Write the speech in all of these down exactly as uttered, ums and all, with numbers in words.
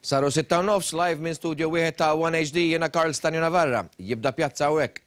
Saru sitta u nofs live minn studio wieħed ta' One H D, jiena Karl Stanju Navarra. Jibda Pjazza hawnhekk.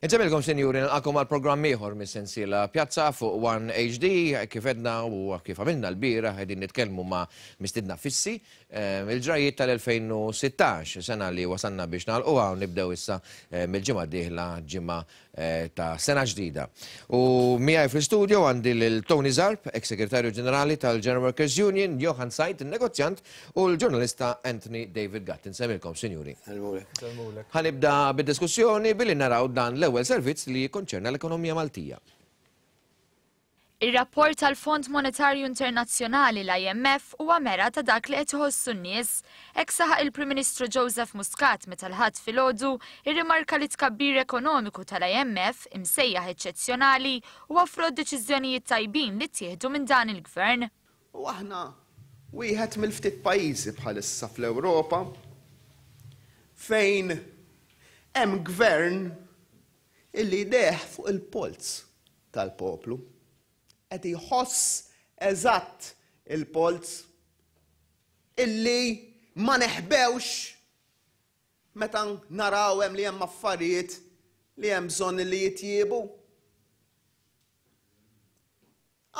Insemmilkom, sinjuri, nilqakom għal programm ieħor mis-sensiela Pjazza fuq One H D, kif edna u kif għamilna l-bieraħ qegħdin nitkellmu ma' mistiedna fissi, eh, il-ġrajiet tal-elfejn u sittax, sena li wasalna biex nagħlquha u nibdew issa, eh, mill-ġimgħa d-dieħla, ġimgħa, eh, ta' sena ġdida. U miegħi fl-istudio għandi lil Tony Zarb, ex-segretarju ġenerali tal-General Workers Union, Johan Said, il-negozjant, u l-ġurnalista Anthony David Gatt. Insemmilkom, sinjuri. Insellmulek. Ħanibda bid-diskussjoni billi naraw dan l-ewwel servizz li jikkonċerna l-ekonomija Maltija. Ir-rapport tal-Fond Monetarju Internazzjonali l-I M F huwa mera ta' dak li qed iħossu n-nies. Hekk saħaq il-Prim Ministru Joseph Muscat meta l-Ħadd filgħodu irrimarka li tkabbir ekonomiku tal-I M F imsejjaħ eċċezzjonali huwa frott deċiżjonijiet tajbin li ttieħdu minn dan il-gvern. U aħna wieħed mill-ftit pajjiżi bħalissa fl-Ewropa fejn hemm gvern illi jdeħ fuq il-polz tal-poplu. Qed jħoss eżatt il-polz illi ma neħbewx meta naraw hemm li hemm affarijiet li hemm bżonn li jitjiebu.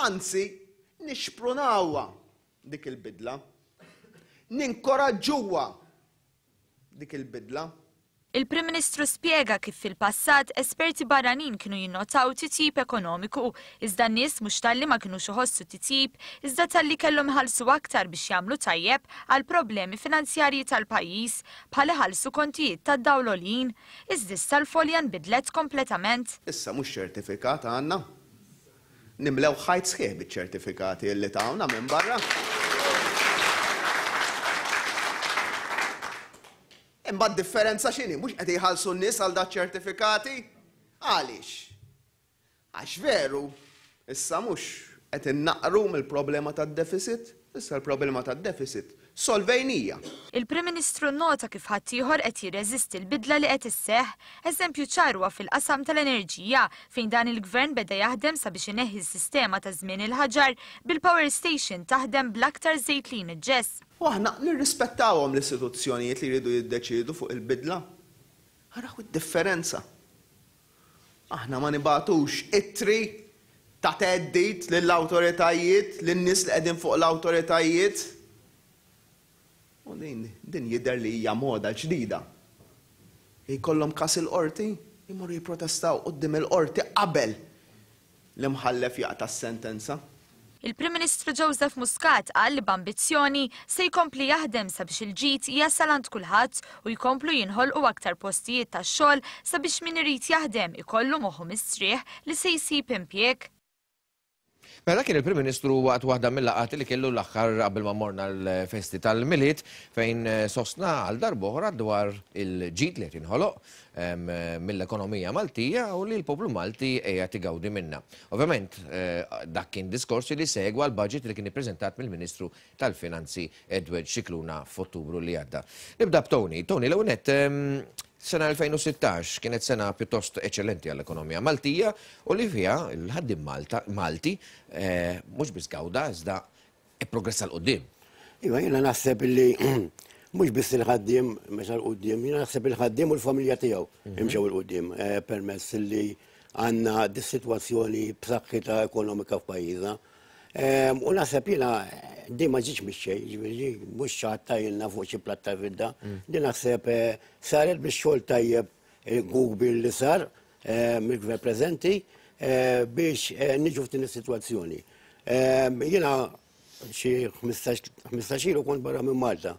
Anzi, nixprunawha dik il-bidla, ninkoraġġuha dik il-bidla. Il-Prim Ministru spjega kif fil-passat esperti barranin kienu jinnotaw titjib ekonomiku, iżda n-nies mhux talli ma kinux iħossu titjib, iżda talli kellhom iħallsu aktar biex jagħmlu tajjeb għal problemi finanzjarji tal-pajjiż bħal iħallsu kontijiet tad-dawl għoljin. Iżda issa l-folja nbidlet kompletament. Issa mhux ċertifikat għandna. Nimlew ħajt sħiħ biċ-ċertifikati li tawna minn barra. Imbagħad differenza x'inhi, mhux qed jħallsu n-nies għal dak ċertifikati? Għaliex? Għax veru, issa mhux qed innaqru mill-problema tad-deficit, issa l-problema tad-deficit solvejnija. Il-Prim Ministru nnota kif ħaddieħor qed jirreżisti l-bidla li qed isseħħ, eżempju ċar huwa fil-qasam tal-enerġija fejn dan il-gvern beda jaħdem sabiex ineħħi s-sistema ta' żmien il-ħaġar bil-power station taħdem bl-aktar żejt li jniġġes. U aħna nirrispettawhom l-istituzzjonijiet li jridu jiddeċiedu fuq il-bidla. Araw id-differenza. Aħna ma nibatux ittri ta' theddid lill-awtoritajiet, lin-nies li qegħdin fuq l-awtoritajiet. U din, din jidher li hija moda ġdida. Jkollhom każ il-qorti, jmorru jipprotestaw quddiem il-qorti qabel l-imħallef jaqta' s-sentenza. Il-Prim Ministru Joseph Muscat qal li b'ambizzjoni se jkompli jaħdem sabiex il-ġid jasal għand kulħadd u jkomplu jinħolqu aktar postijiet tax-xogħol sabiex min irid jaħdem ikollu moħħu mistrieħ li se jsib impjieg. Mela kien il-Prim Ministru waqt waħda mill-laqgħat li kellu l-aħħar qabel ma morna l-festi tal-Milied fejn sostna għal darb'oħra dwar il-ġid li qed jinħoloq, em, mill-ekonomija Maltija u li l-poplu Malti qiegħed igawdi minnha. Ovvjament, eh, dak kien diskors li segwa l-budget li kien ippreżentat mill-Ministru tal-Finanzi Edward Scicluna f'Ottubru li għadda. Nibda b'Tony. Tony, l-ewwel nett, em, sena elfejn u sittax kienet sena pjuttost eċċellenti għall-ekonomija Maltija u li fiha l-ħaddiem Malta, Malti, eh, mhux biss gawda iżda ipprogressa 'l quddiem. Iva, jiena naħseb illi mhux biss il-ħaddiem mexa 'l quddiem, jiena naħseb il-ħaddiem u l-familja tiegħu Mhm. imxew 'il quddiem, eh, permezz illi għandna dis-sitwazzjoni b'saħħitha ekonomika f'pajjiżna. Ehm, u naħseb jiena din ma ġietx mix-xejn, jiġifieri mhux xi ħadd tajjilna fuq xi platta fidda. Mm. Din naħseb, eh, saret bix-xogħol tajjeb, eh, kbir li sar, eh, mill-gvern preżenti, eh, biex, eh, niġu f'din is-sitwazzjoni. Ehm, jiena xi ħmistax, ħmistax ilu kont barra minn Malta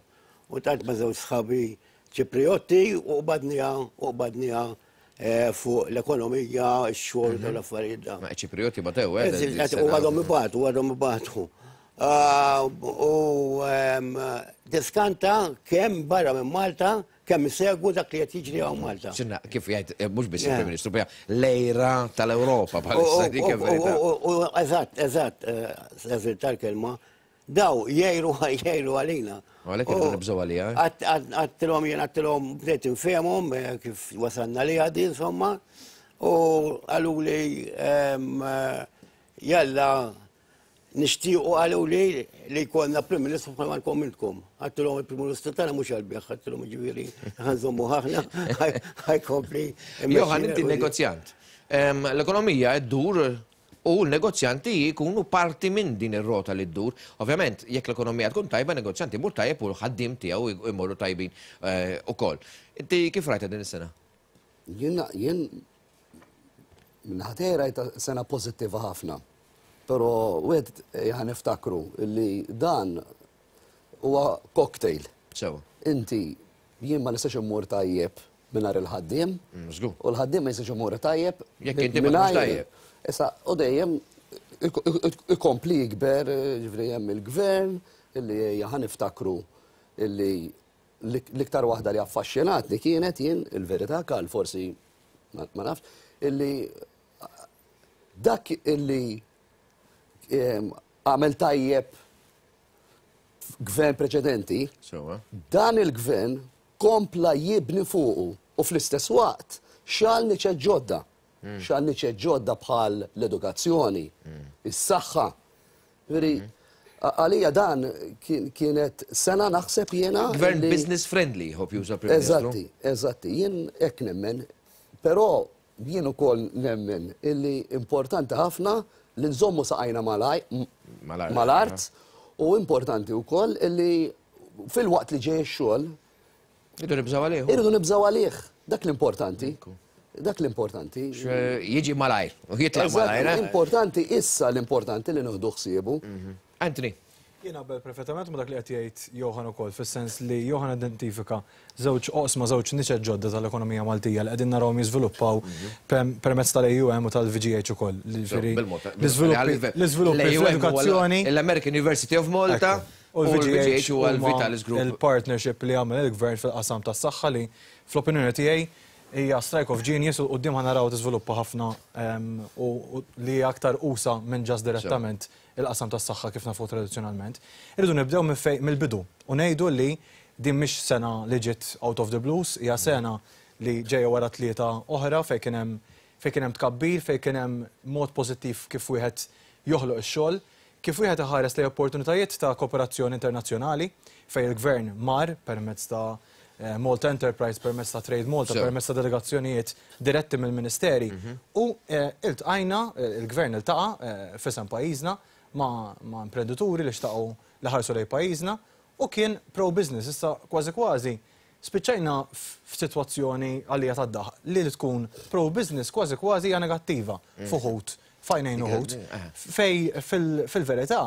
u tant ma' żewġ sħabi Ċipriotti u qbadniha, u qbadniha, eh, fuq l-ekonomija, ix-xogħol Mhm. tal-affarijiet da. Ma Ċipriotti batew, eh, Eżi, din qed is-sena. u għadhom ibatu, u għadhom ibatu. Ah, u, ehm, diskanta kemm barra minn Malta, kemm kemm isegwu dak li qed jiġri hawn Malta. Xinna, kif jgħid, mhux biss il-Prim Ministru, l-għira tal-Ewropa bħalissa dik verità. Eżatt, eżatt, eżatt tal-kelma, daw jgħiru jgħiru għalina. Għalhekk irridu nibżgħu għalija. Għedtilhom jien għedtilhom bdejt infehmhom kif wasalna li għadi insomma u qalu li jalla nixtiequ qalu li li jkollna Prim Ministru bħalma lkom intkom. Għedtilhom il-Prim Ministru tagħna mhux għall-bejgħ, għedtilhom ġifieri ħa nżommu ħafna ħa jkompli. Johan, inti negozjant. L-ekonomija ddur u l-negozjanti jkunu parti minn din ir-rota li ddur. Ovvjament, jekk l-ekonomija tkun tajba, negozjanti jmur tajjeb u l-ħaddiem tiegħu jmorru tajbin ukoll. Inti kif rajta din is-sena? Jien jien minnaħa rajta sena pożittiva ħafna. Però wieħed ħa niftakru li dan huwa cocktail. Sewa. Inti jien ma nistax immur tajjeb mingħajr il-ħaddiem. U l-ħaddiem ma jistax imur tajjeb. Jekk inti ma tkunx tajjeb. Issa, u dejjem ikompli jikber, ġifieri hemm il-gvern, illi ħa niftakru illi l-iktar waħda li affaxxinatni kienet jien il-verità kal forsi ma nafx, illi dak illi għamel tajjeb gvern preċedenti, dan il-gvern kompla jibni fuqu u fl-istess waqt xal niċeġ ġodda. Xal niċeġ ġodda bħal l-edukazzjoni, is-saħħa. Veri, għalija dan kienet sena naħseb jiena. Gvern business friendly, hope juża Prim Ministru. Eżatti, eżatti, jien hekk nemmen, però jien ukoll nemmen illi importanti ħafna li nżommu saqajna mal-art u importanti wkoll illi fil-waqt li ġej ix-xogħol irridu nibżgħu għalih. Irridu nibżgħu għalih, dak l-importanti. Dak l-importanti. Jiġi malajr, u jitlaq malajr. Importanti issa l-importanti li nieħdu ħsiebu. Anthony. Jien qabel perfettament ma dak li qed jgħid Johan ukoll, fis-sens li Johan identifika żewġ oqsma, żewġ niċeġ ġodda tal-ekonomija Maltija li qegħdin narawhom jiżviluppaw permezz tal-A U M u tal-V G H ukoll. L-iżviluppi fl-edukazzjoni. L-American University of Malta u l-V G H u l-Vitalis Group. Il-partnership li għamel il-gvern fil-qasam tas-saħħa li fl-opinjoni tiegħi hija strike of genius u quddiem ħa naraw tiżviluppa ħafna u li aktar usa minn ġas direttament il-qasam tas-saħħa kif nafu tradizzjonalment. Irridu nibdew mill-bidu u ngħidu li din mhix sena li ġiet out of the blues, hija sena li ġejja wara tlieta oħra fejn kien hemm fejn kien hemm tkabbir, fejn kien hemm mod pożittiv kif wieħed joħloq ix-xogħol, kif wieħed iħares lejn opportunitajiet ta' kooperazzjoni internazzjonali fejn il-gvern mar permezz ta' Malta Enterprise, permezz ta' Trade Malta, permezz ta' delegazzjonijiet diretti mill-ministeri. U iltqajna, il-gvern iltaqa' f'isem pajjiżna ma' imprenditori li xtaqgħu li ħarsu lejn pajjiżna u kien pro-business. Issa kważi kważi spiċċajna f'sitwazzjoni għalija tad-daħq li tkun pro-business kważi kważi hija negattiva f'uħud, f'għajnejn uħud, fej fil-verità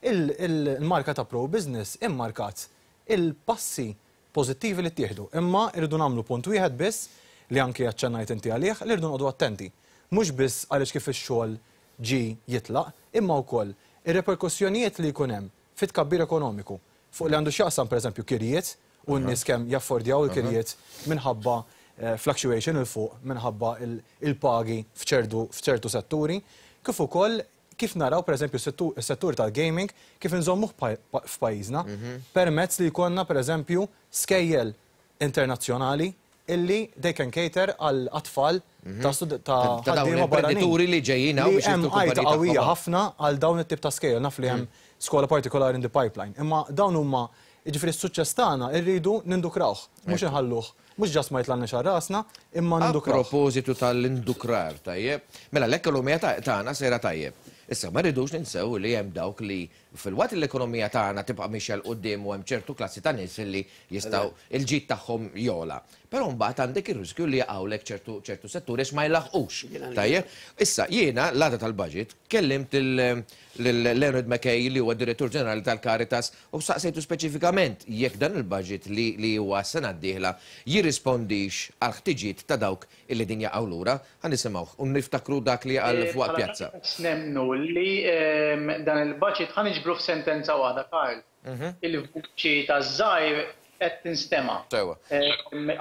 il-marka ta' pro-business immarkat il-passi pożittivi li ttieħdu. Imma irridu nagħmlu punt wieħed biss li anke aċċennajt inti għalih li rridu noqogħdu attenti. Mhux biss għaliex kif ix-xogħol ġi jitlaq, imma wkoll ir-reperkussjonijiet li jkun hemm fit-tkabbir ekonomiku fuq li għandu x'jaqsam pereżempju kirjiet u n-nies kemm jaffordjaw il-kirjiet minħabba fluctuation il fuq minħabba il-pagi f'ċertu setturi, kif ukoll kif naraw pereżempju s-settur tal-gaming kif inżommuh f'pajjiżna permezz li jkollna pereżempju skejjel internazzjonali illi they can cater għal atfal ta' ħaddiema barranin. Li ġejjin hawn biex Hemm għajta qawwija ħafna għal dawn it-tip ta' skejjel, naf li hemm skola partikolari in the pipeline. Imma dawn huma jiġifieri s-suċċess tagħna rridu nindukrawh, mhux inħalluh, mhux ġast ma jitlaqniex għal rasna, imma nindukrawh. A propositu tal-indukrar, tajjeb. Mela l-ekonomija tagħna sejra tajjeb. Issa ma rridux ninsew li hemm dawk li fil-waqt l-ekonomija tagħna tibqa' mixja 'l quddiem u hemm ċertu klassi ta' nies li jistgħu il-ġid tagħhom jola. Però mbagħad għandek ir-riskju li jaqgħulek ċertu ċertu setturi għax ma jlaħqux. Tajjeb, issa jiena l-għada tal-budget kellimt lil Leonard McKay li huwa direttur ġenerali tal-Caritas u saqsejtu speċifikament jekk dan il-budget li huwa s-sena d-dieħla jirrispondix għal ħtiġijiet ta' dawk illi din jaqgħu lura. Ħa nisimgħuh u niftakru dak li qal fuq pjazza. Nemnu li dan il-budget ħa niġbru f'sentenza waħda, Karl. Il-vuċi taż-żgħir qed tinstema'.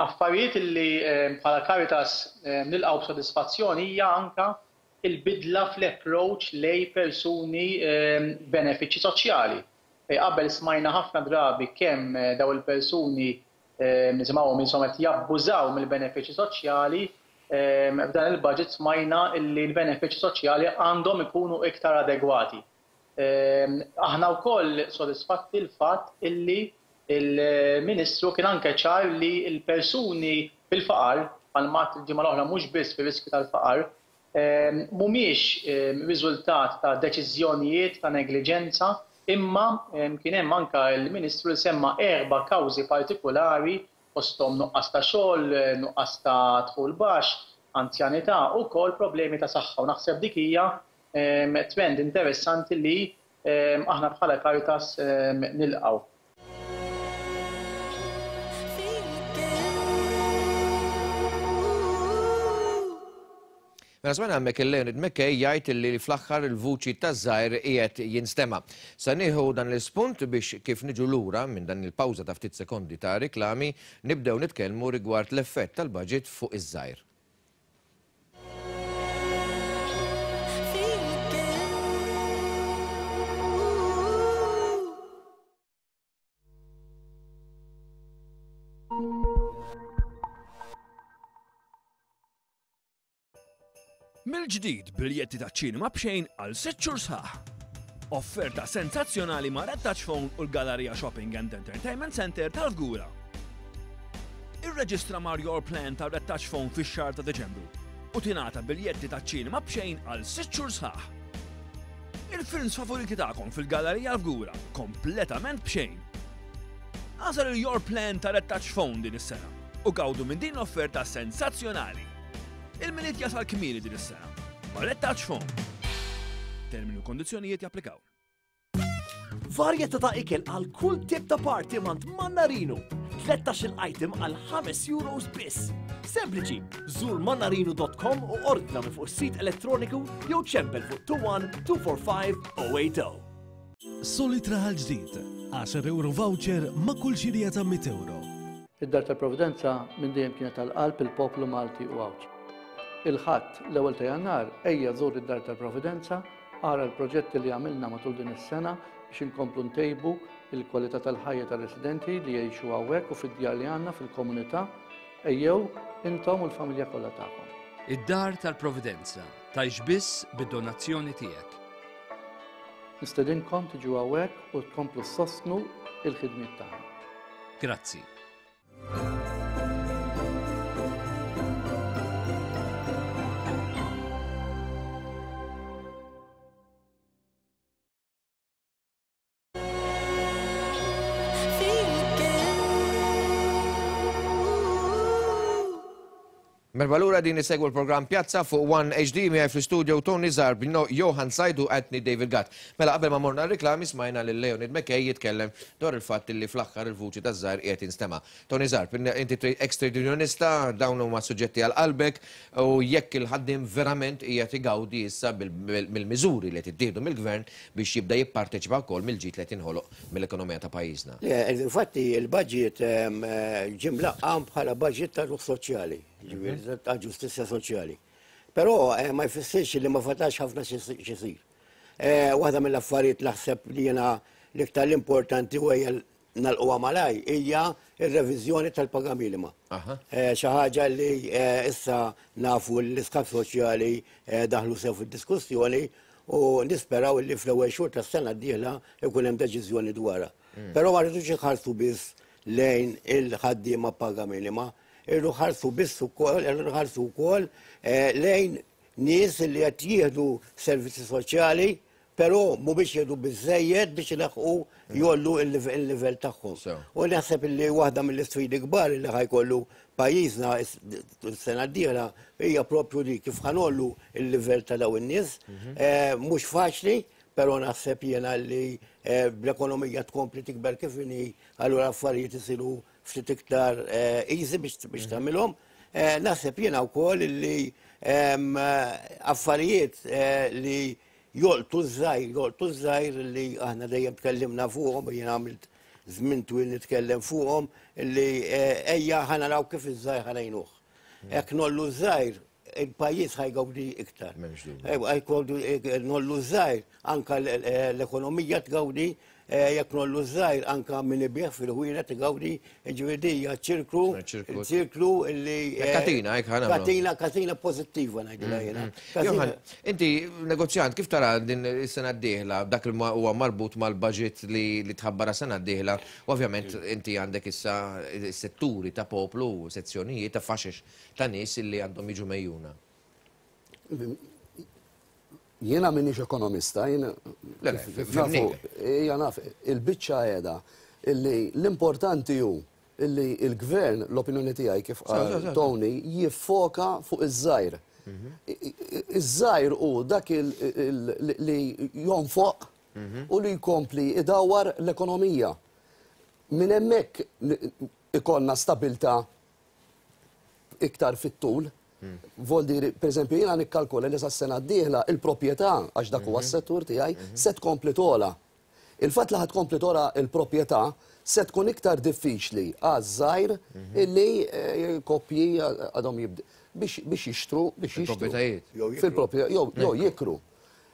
Affarijiet li bħala Caritas nilqgħu b'sodisfazzjon hija anke il-bidla fl-approach lej persuni benefiċċji soċjali. Qabel smajna ħafna drabi kemm daw il-persuni nisimgħuhom insomma qed jabbużaw mill-benefiċċji soċjali, f'dan il-budget smajna li l-benefiċċji soċjali għandhom ikunu iktar adegwati. Aħna wkoll sodisfatti l-fatt illi il-Ministru kien anke ċar li l-persuni fil-faqar, bħalma il-ġimgħa l-oħra mhux biss fir-riskju tal-faqar, mhumiex riżultat ta' deċiżjonijiet ta' negliġenza, imma kien hemm anke l-Ministru li semma erba' kawżi partikolari fosthom nuqqas ta' xogħol, nuqqas ta' dħul baxx, anzjanità u wkoll problemi ta' saħħa. U naħseb dik hija trend interessanti li aħna bħala Caritas nilqgħu. Mela smajna hemmhekk il-Leonid McKay jgħid li fl-aħħar il-vuċi taż-żgħir qiegħed jinstema'. Sa nieħu dan l-ispunt biex kif niġu lura minn dan il-pawża ta' ftit sekondi ta' riklami nibdew nitkellmu rigward l-effett tal-budget fuq iż-żgħir. Mill-ġdid biljetti ta' ċinema b'xejn għal sitt xhur sħaħ. Offerta sensazzjonali ma' Red Touch Phone u l-Galleria Shopping and Entertainment Center tal-Fgura. Irreġistra mar Your Plan ta' Red Touch Phone fix-xahar ta' Deċembru u tingħata biljetti ta' ċinema b'xejn għal sitt xhur sħaħ. Il-films favoriti tagħkom fil-Gallerija l-Fgura kompletament b'xejn. Għażel il-Your Plan ta' Red Touch Phone din is-sena u gawdu minn din l-offerta sensazzjonali. Il-Milied jasal kmieni din is-sena. Ma' Red Touch Phone. Termini u kondizzjonijiet japplikaw. Varjetà ta' ikel għal kull tip ta' party mant Mannarino. tlettax-il item għal ħames euros biss. Sempliċi, żur mannarino dot com u ordna minn fuq is-sit elettroniku jew ċempel fuq two one two four five oh eight oh. Solid Raħal Ġdid, għaxar euro voucher ma' kull xirja ta' mitt euro. Id-Dar tal-Providenza minn dejjem kienet għal-qalb il-poplu Malti u Għawdxi. Il-Ħadd l-ewwel ta' Jannar ejja żur id-Dar tal-Providenza, ara l-proġetti li għamilna matul din is-sena biex inkomplu ntejbu il-kwalità tal-ħajja tar-residenti li jgħixu hawnhekk u fid-djar li għandna fil-komunità. Ejjew intom u l-familja kollha tagħkom. Id-Dar tal-Providenza tgħix biss bid-donazzjoni tiegħek. Nistedinkom tiġu hawnhekk u tkomplu ssostnu il-ħidmiet tagħna. Grazzi. Merba lura din isegwu l-programm Pjazza fuq One H D miegħi fl-istudio Tony Zarb, Johan Sajdu, Anthony David Gatt. Mela qabel ma morna r-reklami smajna lil Leonid McKay jitkellem dwar il-fatt li fl-aħħar il-vuċi taż-żgħir qiegħed jinstema'. Tony Zarb, inti ex-trade unionista, dawn huma suġġetti għal qalbek u jekk il-ħaddiem verament qiegħed igawdi issa mill-miżuri li qed ittieħdu mill-gvern biex jibda jipparteċipa wkoll mill-ġid li qed jinħoloq mill-ekonomija ta' pajjiżna. Infatti il-budget ġie mlaqqam bħala budget tal-ruħ soċjali, ġifieri ta' ġustizzja soċjali. Però ma jfissirx li ma fatax ħafna x'isir. Waħda mill-affarijiet naħseb li jiena l-iktar l-importanti u hija nagħlquha malaj hija r-reviżjoni tal-paga minima. Xi ħaġa li issa nafu l-iskap soċjali daħlu sew fid-diskussjoni u nisperaw li fl-ewwel xhur tas-sena d-dieħla ikun hemm deċiżjoni dwarha. Però ma rridux iħarsu biss lejn il-ħaddiema paga minima, irridu ħarsu biss ukoll, irridu ħarsu wkoll lejn nies li qed jieħdu servizzi soċjali, però mhumiex jieħdu biżżejjed biex ilaħqu jollu il-livell tagħhom. U naħseb li waħda mill-isfidi kbar li ħajkollu pajjiżna s-sena d-dieħla hija propju dik kif ħanollu il-livell ta' dawn in-nies. Mhux faċli, però naħseb jiena li bl-ekonomija tkompli tikber kif inhi, allura affarijiet isiru ftit iktar easy biex tagħmilhom. Naħseb jiena wkoll li affarijiet li jolqtu ż-żgħir, jolqtu ż-żgħir li aħna dejjem tkellimna fuqhom, jien għamilt żmien twil nitkellem fuqhom li ejja ħa naraw kif iż-żgħir ħa ngħinuh. Jekk ngħollu ż-żgħir, il-pajjiż ħa jgawdi iktar. Ngħollu ż-żgħir, anka l-ekonomija tgawdi, jekk ngħollu ż-żgħir anka min ibigħ fil-ħwienet tgawdi, ġifieri hija ċirklu, ċirklu li Katina, hekk ħa nagħmlu. Katina, katina pożittiva ngħidilha jiena. Johan, inti negozjant, kif tara din is-sena d-dieħla, dak li huwa marbut mal-budget li tħabbara sena d-dieħla, ovvjament inti għandek issa setturi ta' poplu, sezzjonijiet ta' faxex ta' nies li għandhom jiġu mejjuna. Jiena minix ekonomista, jiena naf, il-biċċa qiegħda illi l-importanti hu illi il-gvern, l-opinjoni tiegħi kif qal Tony, jiffoka fuq iż-żgħir. Iż-żgħir hu dak li jonfoq u li jkompli idawwar l-ekonomija. Minn hemmhekk ikollna stabilta iktar fit-tul. Vol diri, per eżempju, jiena nikkalkula li sas-sena d-dieħla il-proprjetà, għax dak huwa s-settur tiegħi, se tkompli togħla. Il-fatt li ħad tkompli togħla il-proprjetà se tkun iktar diffiċli għaż-żgħir illi koppji għadhom jibd biex jixtru, biex jixtru. Fil-proprjetajiet. Fil-proprjetà, jew jikru.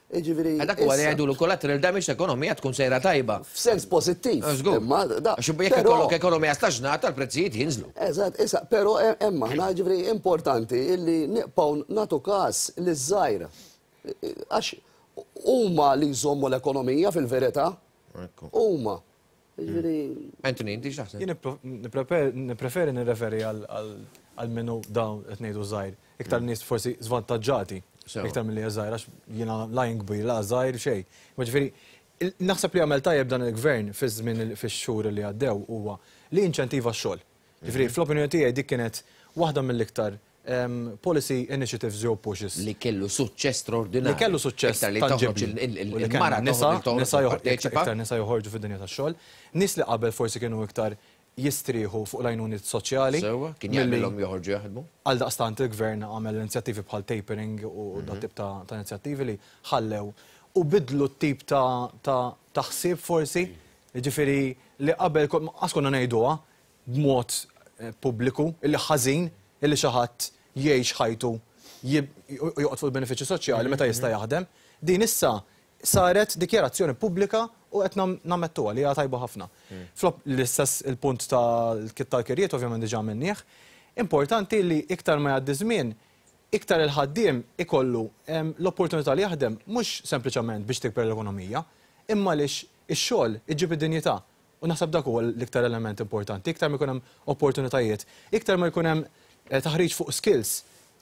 Jiġifieri Dak huwa li jgħidulu collateral damage l-ekonomija tkun sejra tajba. F'sens pożittiv. Żgur. Imma da- Għax jekk ikollok ekonomija staġnata l-prezzijiet jinżlu. Eżatt, issa, però hemm aħna ġifieri importanti illi nibqgħu nagħtu każ liż-żgħir. Għax huma li jżommu l-ekonomija fil-verità. Huma. Jiġifieri Anthony, inti x'taħseb? Jien nippreferi nirreferi għal minnu dawn qed ngħidu żgħir. Iktar nies forsi żvantaġġati. Iktar milli żgħir, għax jiena lajn kbir, la żgħir xejn. Ma ġifieri, naħseb li għamel tajjeb dan il-gvern fiż-żmien fix-xhur li għaddew huwa li inċentiva x-xogħol. Ġifieri, fl-opinjoni tiegħi dik kienet waħda mill-iktar policy initiatives jew pushes. Li kellu suċċess straordinarju. Li kellu suċċess Iktar li toħroġ tangibbli. il-mara nisa parteċipa. Iktar nisa joħorġu fid-dinja tax-xogħol. Nies li qabel forsi kienu iktar jistrieħu fuq l-għajnuniet soċjali. Sewwa, kien jaqbilhom joħorġu jaħdmu. Għal daqstant il-gvern għamel inizjattivi bħal tapering u dat tip ta' inizjattivi li ħallew u bidlu t-tip ta' ħsieb forsi, jiġifieri li qabel qas konna ngħiduha b'mod pubbliku illi ħażin illi xi ħadd jgħix ħajtu joqgħod fuq il-benefiċċji soċjali meta jista' jaħdem. Din issa saret dikjarazzjoni pubblika u qed nammettuha li hija tajba ħafna. Flop l-istess il-punt tal-kirjiet ovvjament diġà minnieh. Importanti li iktar ma jgħaddi żmien, iktar il-ħaddiem ikollu l-opportunità li jaħdem mhux sempliċement biex tikber l-ekonomija, imma għaliex ix-xogħol iġib id-dinjità. U naħseb dak huwa l-iktar element importanti, iktar ma jkun hemm opportunitajiet, iktar ma jkun hemm taħriġ fuq skills.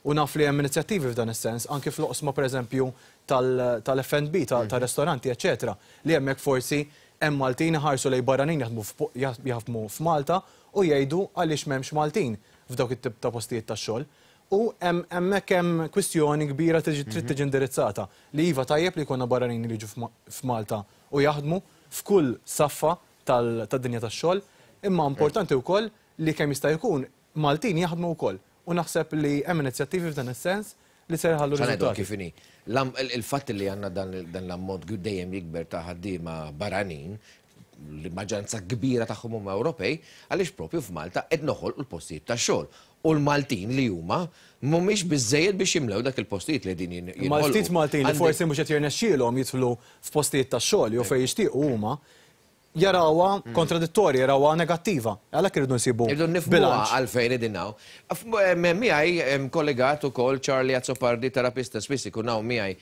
U naf li hemm inizjattivi f'dan is-sens, anke fl-oqsma pereżempju tal-F and B, tal-ristoranti, eċetera, li hemmhekk forsi hemm Maltin iħarsu lejn barranin jaħdmu f'Malta u jgħidu għaliex m'hemmx Maltin f'dawk it-tip ta' postijiet tax-xogħol. U hemmhekk hemm kwistjoni kbira trid tiġi indirizzata li iva tajjeb li jkollna barranin li jiġu f'Malta u jaħdmu f'kull saffa tad-dinja tax-xogħol, imma importanti wkoll li kemm jista' jkun Maltin jaħdmu wkoll. U naħseb li hemm inizjattivi f'dan is-sens li se jħallu riżultati. Kif inhi? Il-fatt li għandna dan l-ammont dejjem jikber ta' ħaddiema barranin, li maġġoranza kbira tagħhom huma Ewropej, għaliex propju f'Malta qed noħolqu l-postijiet tax-xogħol. U l-Maltin li huma mhumiex biżejjed biex jimlew dak il-postijiet li qegħdin jinħolqu. Ma ftit Maltin li forsi mhux qed jirnexxielhom jidħlu f'postijiet tax-xogħol jew fejn jixtiequ huma, jarawha kontradittorja, jarawha negattiva. Għalhekk irridu nsibu Irridu nifhmuha għalfejn qegħdin hawn. Miegħi kollegat ukoll Charlie Azzopardi, terapista spiss ikun hawn miegħi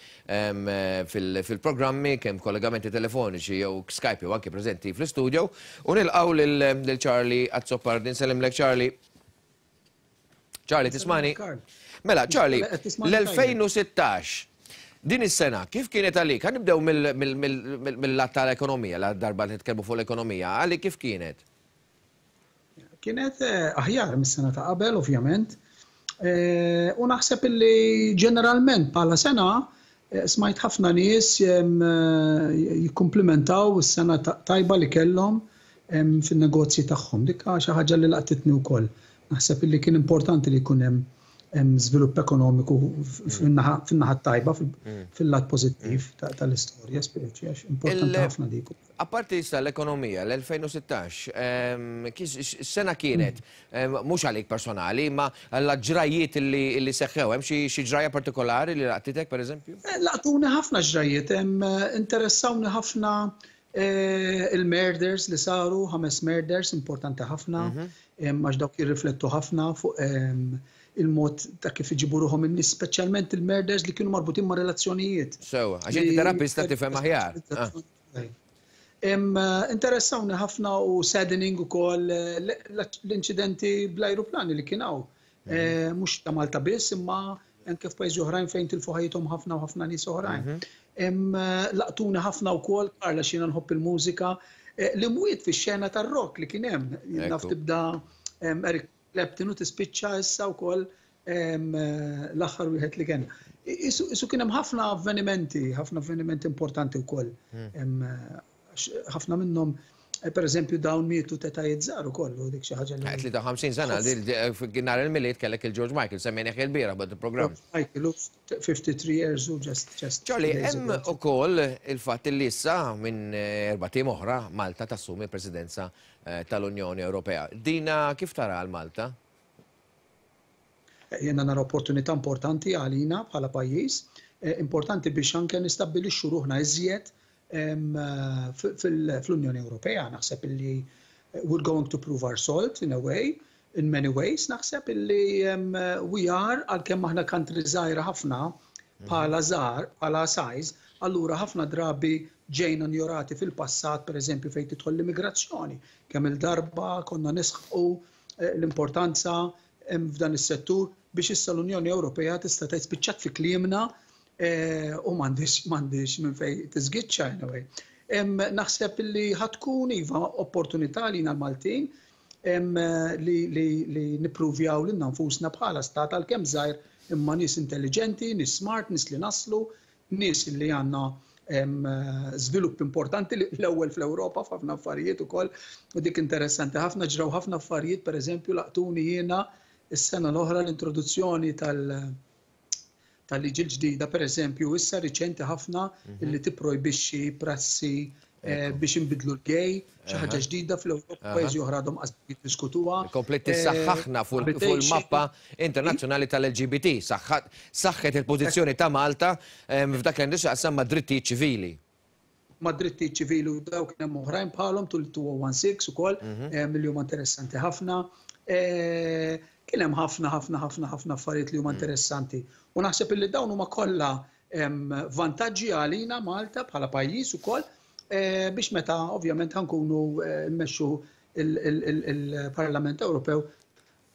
fil-programmi kemm kollegamenti telefoniċi jew Skype jew anke preżenti fl-istudio, u nilqgħu lil Charlie Azzopardi. Nsellimlek Charlie. Charlie, tismani? Mela, Charlie, l-elfejn u sittax, din is-sena, kif kienet għalik? Ħa nibdew mill-lat tal-ekonomija, la darba li nitkellmu fuq l-ekonomija, għalik kif kienet? Kienet aħjar mis-sena ta' qabel, ovvjament. U naħseb illi ġeneralment bħala sena smajt ħafna nies jikkumplimentaw is-sena tajba li kellhom fin-negozji tagħhom. Dik xi ħaġa li laqtitni wkoll. Naħseb illi kien importanti li jkun hemm żvilupp ekonomiku fin-naħa tajba, fil-lat pożittiv tal-istorja, speċi, għax importanti ħafna dik. Apparti issa l-ekonomija, l-elfejn u sittax, sena kienet, mhux għalik personali, ma l-ġrajiet li seħħew, hemm xi ġrajja partikolari li laqtitek, per eżempju? Laqtuni ħafna ġrajiet, interessawni ħafna il-murders li saru, ħames murders, importanti ħafna, għax dawk jirriflettu ħafna fuq il-mod ta' kif iġibu ruħhom in-nies, speċjalment il-murders li kienu marbutin ma' relazzjonijiet. Sewa, għax inti terapista tifhem aħjar. Interessawni ħafna u saddening ukoll l-inċidenti bl-ajruplani li kien hawn. Mhux ta' Malta biss, imma anke f'pajjiżi oħrajn fejn tilfu ħajjithom ħafna u ħafna nies oħrajn. Laqtuni ħafna wkoll, Karla, xina nħobb il-mużika, li mwiet fix-xena tar-rock li kien hemm. Naf tibda Eric Clapton u tispiċċa issa wkoll l-aħħar wieħed li kien. Isu kien hemm ħafna avvenimenti, ħafna avvenimenti importanti wkoll. Ħafna minnhom, per eżempju, dawn mietu tetajiet żgħar ukoll, u dik xi ħaġa li. tlieta u ħamsin sena, nhar il-Milied kellek il-George Michael, semmejnieh il-bieraħ bad il-programm. Michael, fifty-three years u just, just Charlie, days hemm ago. ukoll il-fatt li issa minn erba' tim oħra Malta tassumi l-Presidenza tal-Unjoni Ewropea. Dina kif tara għal Malta? Jiena nara opportunità importanti għalina bħala pajjiż, importanti biex anke nistabbilixxu ruħna iżjed fl-Unjoni Ewropea. Naħseb illi we're going to prove our salt in a way, in many ways. Naħseb illi we are, għalkemm aħna country żgħira ħafna bħala żgħar, bħala size, allura ħafna drabi ġejna njorati fil-passat, per eżempju, fejn tidħol l-immigrazzjoni. Kemm il-darba konna nisħqu l-importanza f'dan is-settur biex issa l-Unjoni Ewropea tista' tgħid spiċċat fi kliemna u m'għandix, m'għandix minn fejn tiżgiċċa anyway. Naħseb li ħatkun iva opportunità lina l-Maltin li, li, li nippruvjaw lilna nfusna bħala stat għalkemm żgħir imma nies intelligenti, nies smart, nies li naslu, nies li għandna żvilupp importanti l-ewwel fl-Ewropa f'ħafna affarijiet ukoll, u dik interessanti ħafna, ġraw ħafna affarijiet, per eżempju laqtuni jiena is-sena l-oħra l-introduzzjoni tal- tal-liġi l-ġdida, per eżempju, issa riċenti ħafna Mhm. illi tipprojbixxi prassi, eh, Ekku. biex inbidlu l-gej, xi ħaġa Aha. ġdida fl-Ewropa, Aha. pajjiżi oħra għadhom qas jiddiskutuha. Komplet tissaħħaħna fuq Eh, fuq il-mappa internazzjonali tal-L G B T, saħħat, saħħet il-pożizzjoni ta' Malta, ehm, f'dak li għandu x'jaqsam ma' drittijiet ċivili. Ma' drittijiet ċivili u dawk kien hemm oħrajn bħalhom tul two oh one six ukoll, Mhm. ehm, li huma interessanti ħafna. Eh, kien hemm ħafna, ħafna, ħafna, ħafna affarijiet li huma Mm. interessanti. U naħseb illi dawn huma kollha, ehm, vantaġġi għalina Malta bħala pajjiż ukoll, eh, biex meta ovvjament ħankunu, eh, mmexxu il-, il-, il-, il-Parlament Ewropew,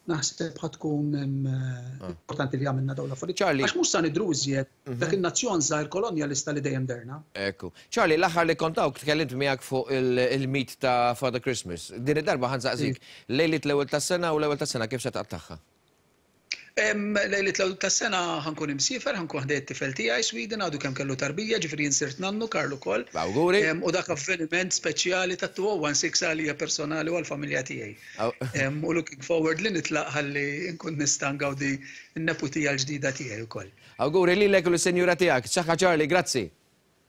naħseb ħa tkun, ehm, Ah. importanti li għamilna dawn l-affarijiet. Charlie. Għax mhux sa nidhru iżjed Mhm. dak in-nazzjon żgħir kolonjalista li dejjem derna. Ekku. Charlie, l-aħħar li kontawk tkellimt miegħek fuq il-, il-meet ta' Father Christmas. Din id-darba ħa nsaqsik, Sì. lejliet l-ewwel tas-sena u l-ewwel tas-sena kif se taqtagħha? Em, lejliet l-ewwel tas-sena ħankun imsiefer, ħankun ħdejt it-tifel tiegħi Sweden, għadu kemm kellu tarbija, ġifieri jien sirt nannu Karlu ukoll. Awguri. Em, u dak avveniment speċjali ta' two oh one six għalija personali u għall-familja tiegħi. Aw. Em, u looking forward li nitlaq ħalli nkun nista' ngawdi n-neputija l-ġdida tiegħi wkoll. Awguri lilek u lis-senjura tiegħek. Saħħa Charlie, grazzi.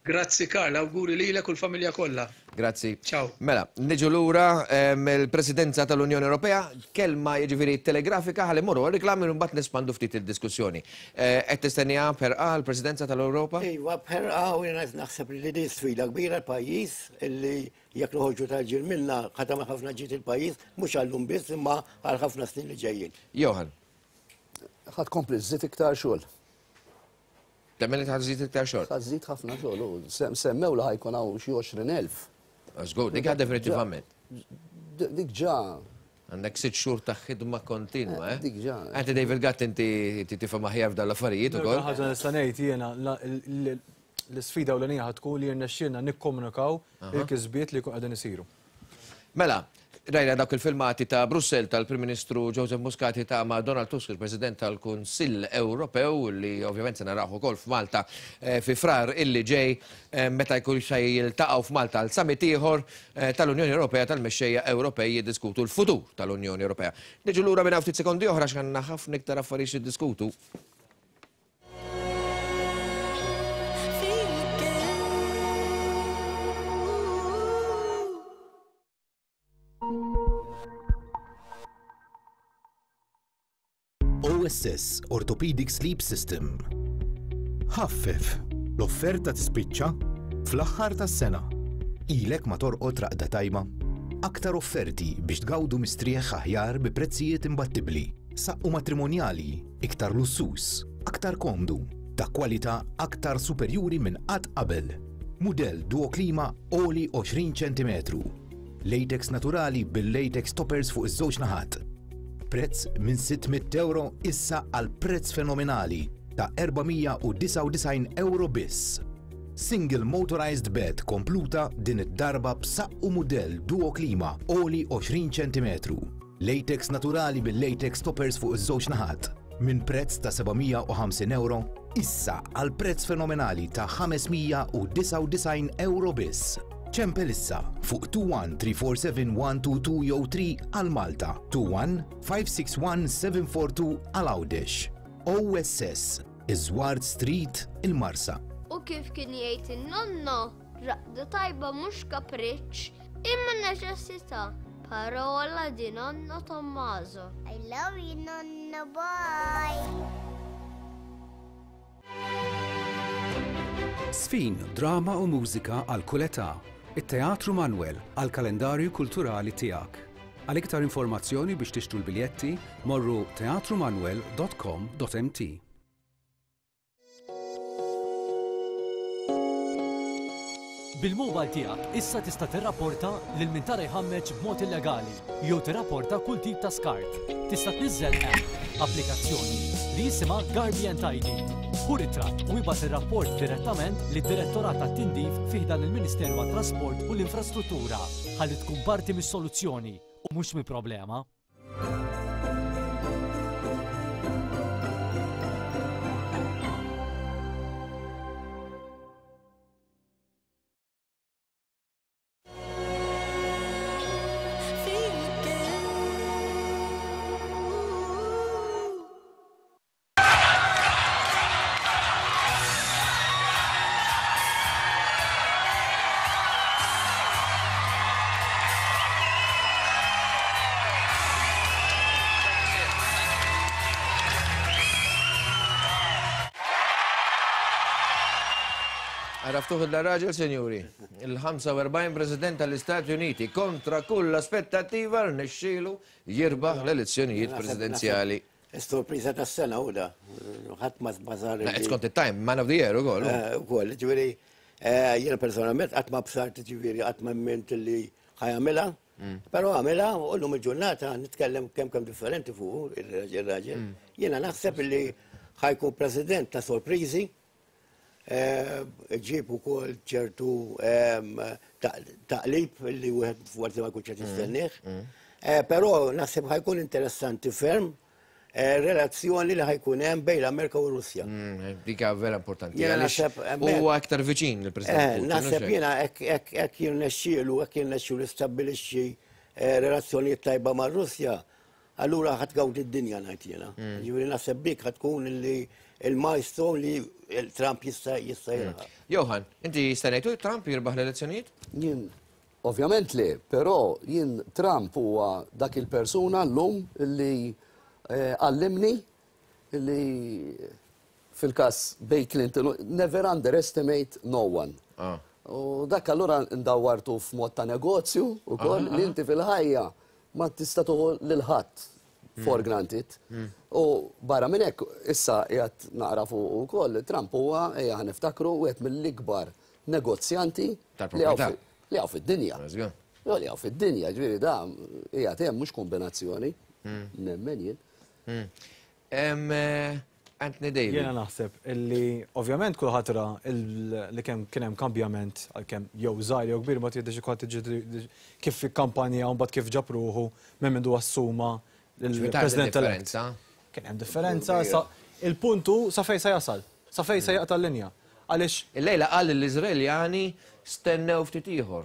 Grazzi Karl, awguri lilek u l-familja kollha. Grazzi. Ciao. Mela, niġu lura, ehm, il-Presidenza tal-Unjoni Ewropea, kelma jiġifieri telegrafika ħalli morru reklami u mbagħad nespandu ftit il-diskussjoni. Eh, qed tistennija b'ħerqa l-Presidenza tal-Ewropa? Iva, b'ħerqa u jiena naħseb li din sfida kbira l-pajjiż illi jekk noħorġu tal-ġir minna ħadd ma ħafna ġid il-pajjiż, mhux għallum biss imma għal ħafna snin li ġejjin. Johan. Ħadd kompli żżid iktar xogħol. Temmen li tħażżid iktar xogħol? Tħażżid ħafna xogħol, u sem-, semmew li ħajkun hawn xi għoxrin elf. Żgur, dik definitivament. D-, dik ġa. Għandek sitt xhur ta' ħidma kontinwa, eh? Dik ġa. Anti David Gatt inti tifhem aħjar f'dan l-affarijiet ukoll. Ħaġa nista' ngħid jiena, la-, l-, l-, l-isfida ewlenija ħad tkun li jirnexxielna nikkomunikaw Aha. il-kisbiet li jkun qegħdin isiru. Mela, Rajna dawk il-filmati ta' Brussell tal-Prim Ministru Joseph Muscat ta' ma' Donald Tusk, il-President tal-Kunsill Ewropew, li ovvjament se naraw ukoll f'Malta fi Frar illi ġej meta jkun se jiltaqgħu f'Malta għal summit ieħor tal-Unjoni Ewropea tal-mexxejja Ewropej jiddiskutu l-futur tal-Unjoni Ewropea. Niġu lura minn ftit sekondi oħra x'għandna ħafna iktar affarijiet jiddiskutu. O S S Orthopedic Sleep System. Ħaffef, l-offerta tispiċċa fl-aħħar tas-sena. Ilek ma torqod raqda tajba. Aktar offerti biex tgawdu mistrieħ aħjar bi prezzijiet imbattibbli. Saqqu matrimonjali, iktar lussus, aktar komdu, ta' kwalità aktar superjuri minn qatt qabel. Mudell Duo Klima oli għoxrin ċentimetru. Latex naturali bil-latex toppers fuq iż-żewġ naħat. Prezz minn sitt mitt euro issa għal prezz fenomenali ta' erba' mija u disgħa u disgħin euro biss. Single motorized bed kompluta din id-darba b'saqqu mudell Duo Klima oli għoxrin ċentimetru. Latex naturali bil-latex toppers fuq iż-żewġ naħat. Minn prezz ta' seba' mija u ħamsin euro issa għal prezz fenomenali ta' ħames mija u disgħa u disgħin euro biss. Ċempel issa fuq two one three four seven one two two jew three għal Malta, two one five six one seven four two għal Għawdex. O S S, Iżward Street, il-Marsa. U kif kien jgħid in-nonno, raqda tajba mhux kapriċċ, imma neċessità. Parola di nonno Tommaso. I love you, nonno, bye. Sfin, drama u mużika għal kull età. It-Teatru Manuel għal kalendarju kulturali tiegħek. Għal iktar informazzjoni biex tixtru l-biljetti, morru teatru manuel dot com dot m t. Bil-mobile tiegħek issa tista' tirrapporta lil min tara jħammeġ b'mod illegali jew tirrapporta kull tip ta' skart. Tista' tniżżel app, applikazzjoni li jisimha Guardian Tidy. Hu ritratt u jibgħat ir-rapport direttament lid-Direttorat tat-Tindif fih dan il-Ministeru għat-Trasport u l-Infrastruttura ħalli tkun parti mis-soluzzjoni u mhux mill-problema. Għaraftuħ il-raġel, senjuri, il-ħamsa u erbgħin President tal-Istati Uniti kontra kull aspettattiva rnexxielu jirbaħ l-elezzjonijiet presidenzjali. Sorpriża tas-sena u da, ħadd ma żbażar. Skont it-time, man of the year ukoll. Ukoll, ġifieri, jiena personalment qatt ma bsart, ġifieri qatt ma ment li ħajamilha, però għamilha u llum il-ġurnata nitkellem kemm kemm differenti fuq ir-raġel. Jiena naħseb li ħajkun president ta' sorpriżi. Ġib ukoll ċertu taqlib li wieħed forsi ma jkunx qed jistennieh. Però naħseb ħajkun interessanti ferm relazzjoni li ħajkun hemm bejn l-Amerika u Russja. Dik vera importanti. Huwa aktar viċin il-President Putin. Naħseb jiena hekk jirnexxielu, hekk jirnexxielu stabbilixxi relazzjonijiet tajba mar-Russja, allura ħadd gawdi d-dinja ngħid jiena. Ġifieri naħseb dik ħad tkun li il-milestone li Trump jista' jista' jirbaħ. Johan, inti stennejtu Trump jirbaħ l-elezzjonijiet? Jien, ovvjament le, però jien Trump huwa dak il-persuna llum li għallimni li fil-każ bej Clinton, never underestimate no one. U dak allura ndawwartu f'mod ta' negozju ukoll li inti fil-ħajja ma tista' tuħu lil ħadd for granted. U barra minn hekk issa qiegħed naqra fuq ukoll Trump huwa ejja niftakru wieħed mill-ikbar negozjanti li hawn fid-dinja. Li hawn fid-dinja, ġifieri da qiegħed hemm mhux kombinazzjoni. Nemmen jien. Anthony David. Jiena naħseb illi ovvjament kulħadd ra li kemm kien hemm kambjament, għalkemm jew żgħir jew kbir, ma tgħidx kulħadd kif kampanja u mbagħad kif ġab ruħu minn mindu assuma il-President elett. Kien hemm differenza. Il-puntu sa fejn se jasal, sa fejn se jaqta' l-linja. Għaliex il-lejla qal l-Iżraeljani stennew ftit ieħor.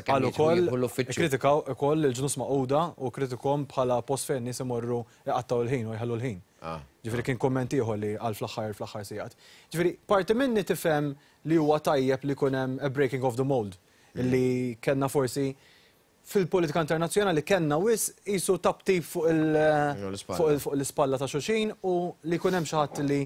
Qal ukoll kritikaw ukoll il-Ġnus Magħquda u kritikom bħala post fejn nies imorru jqattgħu l-ħin u jħallu l-ħin. Ġifieri kien kumment ieħor li qal fl-aħħar fl-aħħar sigħat. Ġifieri parti minni tifhem li huwa tajjeb li jkun hemm a breaking of the mold, li kellna forsi fil-politika internazzjonali kellna wisq qisu taptip fuq l-ispalla ta' xulxin u li jkun hemm xi ħadd li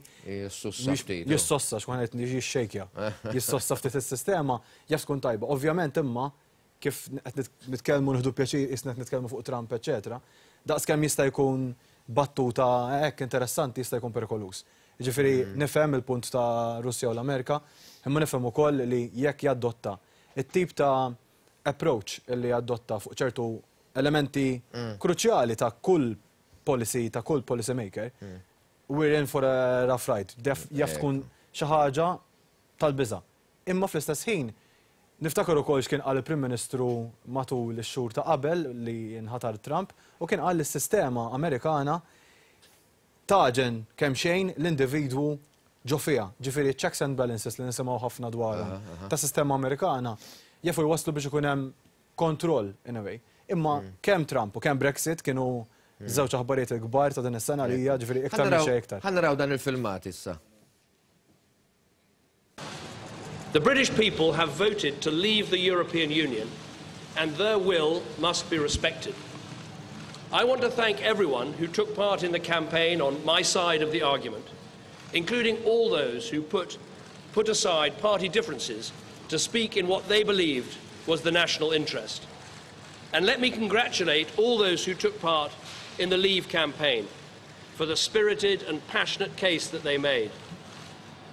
jissossa, x'kun qed jixxejkja, jissossa ftit is-sistema, jaf tkun tajba. Ovvjament imma kif qed nitkellmu nieħdu pjaċir qisna qed nitkellmu fuq Trump, eċetera, daqskemm jista' jkun battuta hekk interessanti jista' jkun perikoluż. Jiġifieri nifhem il-punt ta' Russja u l-Amerika, imma nifhem ukoll li jekk jadotta it-tip ta' approach li jadotta fuq ċertu elementi kruċjali ta' kull policy, ta' kull policy maker, we're in for a rough ride. Jaf tkun xi ħaġa tal-biża'. Imma fl-istess ħin niftakar ukoll x'kien qal il-Prim Ministru matul ix-xhur ta' qabel li nħatar Trump, u kien qal li s-sistema Amerikana taġen kemm xejn l-individwu ġo fiha. Ġifieri checks and balances li nisimgħu ħafna dwarhom ta' sistema Amerikana jafu jwaslu biex ikun hemm kontroll in a way. Imma kemm Trump u kemm Brexit kienu żewġ aħbarijiet il-kbar ta' din is-sena li hija, ġifieri iktar minn xejn iktar. Ħa naraw dan il-filmat issa. The British people have voted to leave the European Union and their will must be respected. I want to thank everyone who took part in the campaign on my side of the argument, including all those who put, put aside party differences to speak in what they believed was the national interest. And let me congratulate all those who took part in the Leave campaign for the spirited and passionate case that they made.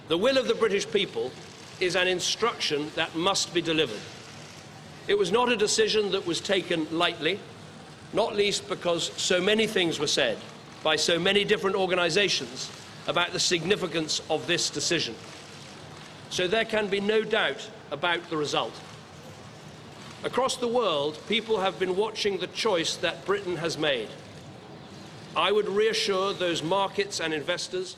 The will of the British people is an instruction that must be delivered. It was not a decision that was taken lightly, not least because so many things were said by so many different organisations about the significance of this decision. So there can be no doubt about the result. Across the world, people have been watching the choice that Britain has made. I would reassure those markets and investors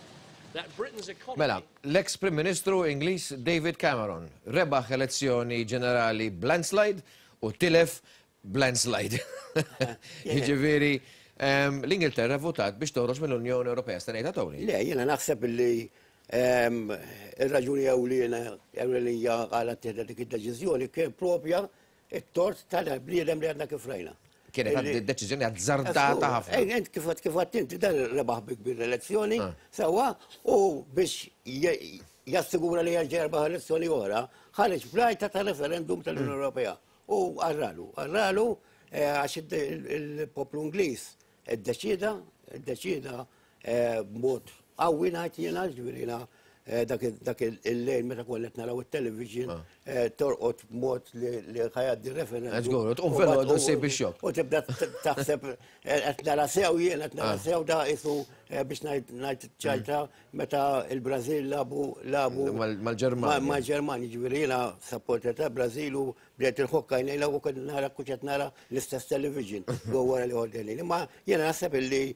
that Britain's economy... Mela, l-ex-Prim Ministru Ingliż David Cameron rebaħ elezzjoni ġenerali b'landslide u tilef b'landslide. Jiġifieri, l-Ingilterra votat biex toħroġ mill-Unjoni Ewropea. Stennejtha, Tony? Le, jiena naħseb li ir-raġuni ewlenija għala ttieħdet dik id-deċiżjoni kien propja it-tort tal-bniedem li għadna kif rajna. Kienet deċiżjoni azzardata ħafna. Ent kif kif inti dan rebaħ bi kbir elezzjoni, sewwa, u biex jassigura li jerġa' jerbaħ elezzjoni oħra, ħareġ bl-għajta ta' referendum tal-Unjoni Ewropea. U għarralu, għarralu għax il-poplu Ingliż iddeċida, iddeċida b'mod qawwi ngħid jiena, ġifieri dak il-lejl meta konna qed naraw it-television torqod b'mod li ħa jgħaddi referendum. Żgur, tqum filgħodu ssib ix-xokk. U tibda taħseb qed nara sew jien, qed nara sew da qisu biex ngħid ċajta meta il-Brażil lagħbu lagħbu mal-Ġermanja. Mal-Ġermanja, ġifieri jiena supporter ta' Brażil u bdejt il-ħokka jnejla u kont nara kont qed nara l-istess television wara li ħoddeni. Imma jiena naħseb illi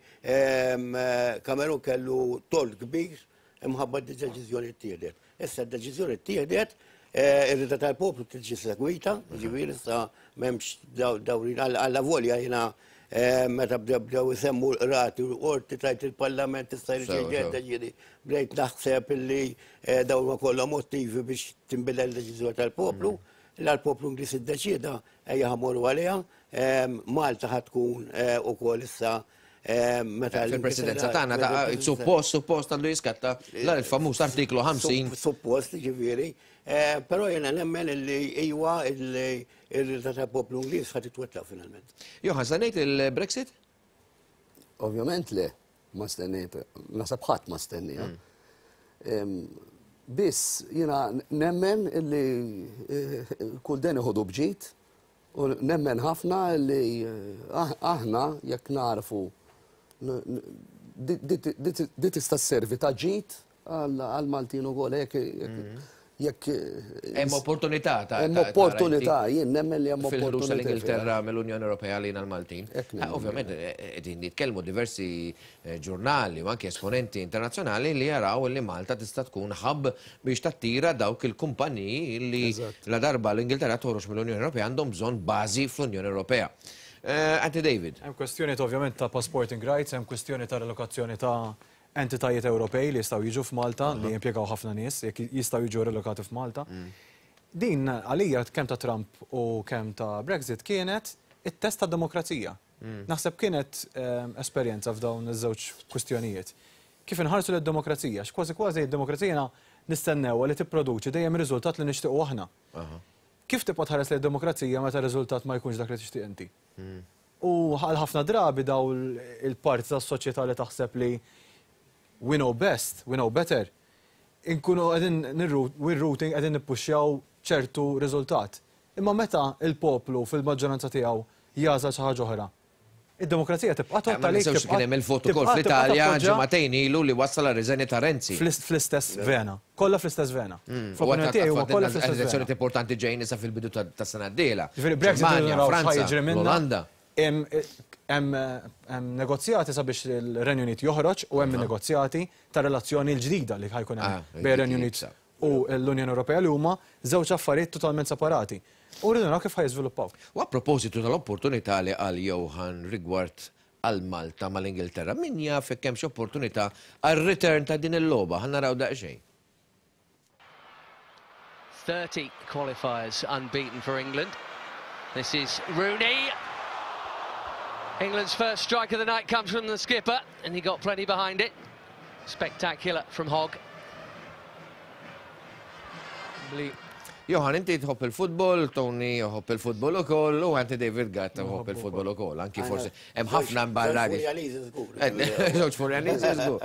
Cameron kellu tort kbir imħabba d-deċiżjoni ttieħdet. Issa d-deċiżjoni ttieħdet, ir-rieda tal-poplu tiġi segwita, ġifieri issa m'hemmx dawrin għalla volja jiena meta bdew isemmu l-qrati u l-qorti tajt il-Parlament issa jrid bdejt naħseb illi dawn ma kollha motivi biex tinbidel l-deċiżjoni tal-poplu. L-poplu Ingliż iddeċieda ejja ħa mmorru għaliha, Malta ħa tkun ukoll issa meta fil-presidenza tagħna ta' suppost suppost għandu jiskatta l-famuż artiklu ħamsin. Suppost, ġifieri, però jiena nemmen illi iwa illi ir-rieda tal-poplu Ingliż ħa titwettaq finalment. Johan, stennejt il-Brexit? Ovvjament le, ma stennejt, naħseb ħadd ma stennija. Biss jiena nemmen illi kull den iħodu bġid u nemmen ħafna illi aħna jekk narfu di tista' sservi ta' ġid għal-Maltin ukoll jekk jekk Hemm opportunità ta' hemm opportunità, jien nemmen li hemm fil-ħruġ opportunità. tal-Ingilterra mill-Unjoni Ewropea lejn l-Maltin. Ah, ovvjament, qegħdin nitkellmu diversi eh, ġurnali u anke esponenti internazzjonali li jaraw li Malta tista' tkun hub biex tattira dawk il-kumpaniji li la darba l-Ingilterra toħroġ mill-Unjoni Ewropea għandhom bżonn bażi fl-Unjoni Ewropea. Eh, Anti David. Hemm kwestjoni ta' ovvjament ta' passporting rights, hemm kwestjoni ta' relokazzjoni ta' entitajiet Ewropej li jistgħu jiġu f'Malta, li jimpjegaw ħafna nies, jekk jistgħu jiġu relokati f'Malta. Din għalija kemm ta' Trump u kemm ta' Brexit kienet it-test ta' demokrazija. Naħseb kienet ehm, esperjenza f'dawn iż-żewġ kwistjonijiet. Kif inħarsu lid-demokrazija, x'kważi kważi d-demokrazija nistennew li tipproduċi dejjem riżultat li nixtiequ aħna. Kif tibqa' tħares lid demokrazija meta r-riżultat ma jkunx dak li tixtieq inti? U għal ħafna drabi daw il-parti tas-soċjetà li taħseb li we know best, we know better, inkunu qegħdin we're rooting, qegħdin nippuxxjaw ċertu riżultat. Imma meta il-poplu fil-maġġoranza tiegħu jagħżel xi ħaġa oħra, id-demokrazija tibqa' Ma tgħod għalik. ninsewx kien hemm il-vot ukoll fl-Italja ġimagħtejn ilu li wassal għar-riżenja ta' Renzi. Fl-istess vena, kollha fl-istess vena. Mm. Fl-opinjoni tiegħi huma kollha fl-istess Elezzjoni vena. importanti ġejjin issa fil-bidu ta' ta' sena d-dieħla. Ġifieri Brexit Ġermanja, naraw Franza, x'ħa jiġri minnha. l-Olanda. Hemm hemm hemm negozjati sabiex il-Renju Unit joħroġ u hemm negozjati ta' relazzjoni l-ġdida li ħa jkun Ah, hemm bejn ir-Renju Unit u l-Unjoni Ewropea, li huma żewġ affarijiet totalment separati. U rridu naraw kif ħa jiżviluppaw. U a propositu tal-opportunità li qal Johan rigward għal Malta mal-Ingilterra, min jaf jekk hemmx opportunità għal return ta' din il-logħba, ħa naraw daqsxejn. thirty qualifiers unbeaten for England. This is Rooney. England's first strike of the night comes from the skipper, and he got plenty behind it. Spectacular from Hogg. Johan, inti tħobb il-futbol, Tony jħobb il-futbol ukoll, u anti David Gatt tħobb il-futbol ukoll, anki forsi hemm ħafna mbarrati. Żewġ Furjaniżi żgur.